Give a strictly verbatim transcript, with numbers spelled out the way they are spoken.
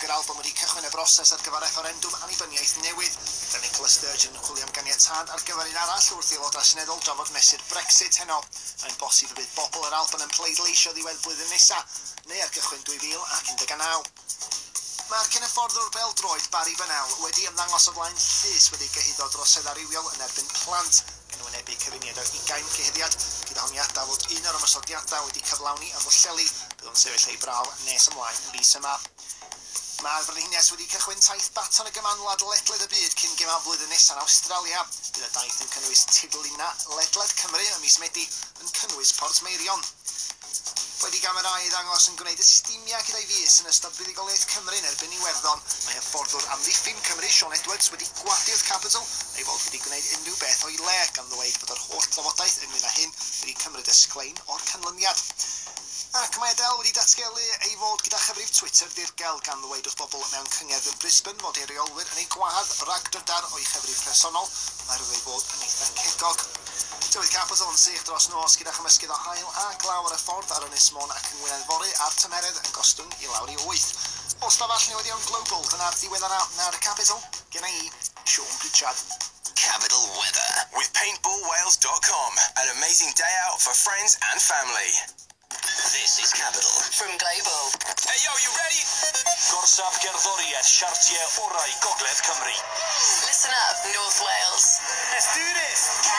Yr Alban wedi cychwyn y broses ar gyfer refferendwm annibyniaeth newydd, gyda Nicola Sturgeon yn chwilio am ganiatâd ar gyfer un arall wrth i aelodau seneddol drafod mesur Brexit heno. Mae'n bosib y bydd bobl yr Alban yn pleidleisio ddiwedd blwyddyn nesaf, neu ar gychwyn dwy fil ac un deg naw. Mae'r cyn-hyfforddwr bêl-droed Barry Bennell wedi ymddangos o flaen llys wedi gyhuddo droseddau rhywiol yn erbyn plant, gan wynebu cyfuniad o ugain cyhuddiad, gyda honiadau fod un o'r ymosodiadau wedi cyflawni ym Mhwllheli. Bydd o'n sefyll ei brawf nes ymlaen y mis yma. Mae'r Frenhines wedi cychwyn taith baton y Gymanwlad ledled y byd cyn gemau flwyddyn nesaf yn Awstralia. Bydd y daith yn cynnwys tirlunau ledled Cymru ym mis Medi, yn cynnwys Portmeirion. Wedi gamerau ei ddangos yn gwneud ystimiau gyda'i fys yn ystod buddugoliaeth Cymru yn erbyn Iwerddon, mae hyfforddwr amddiffyn Cymru Shaun Edwards wedi gwadu wrth Capital ei fod wedi gwneud unrhyw beth o'i le, gan ddweud bod yr holl drafodaeth ynglyn â hyn wedi cymryd y sglein o'r canlyniad. Ac mae Adele wedi datgelu ei fod gyda chyfrif Twitter dirgel, gan ddweud wrth bobl mewn cyngerdd yn Brisbane fod ei reolwyr yn ei gwahardd rhag drydar o'i chyfrif personol oherwydd ei fod yn eitha cegog. Tywydd Capital yn sych dros nos gyda chymysgedd o haul a glaw ar y ffordd ar Ynys Môn ac yng Ngwynedd fory, a'r tymheredd yn gostwng i lawr i wyth. O stafell newyddion Global, dyna'r diweddara ar Capital. Gen i, Sean Pritchard. Capital Weather with paintball wales dot com. An amazing day out for friends and family. This is Capital from Global. Hey yo, you ready? Gorsaf gerddoriaeth siartiau orau Gogledd Cymru. Listen up, North Wales. Let's do this!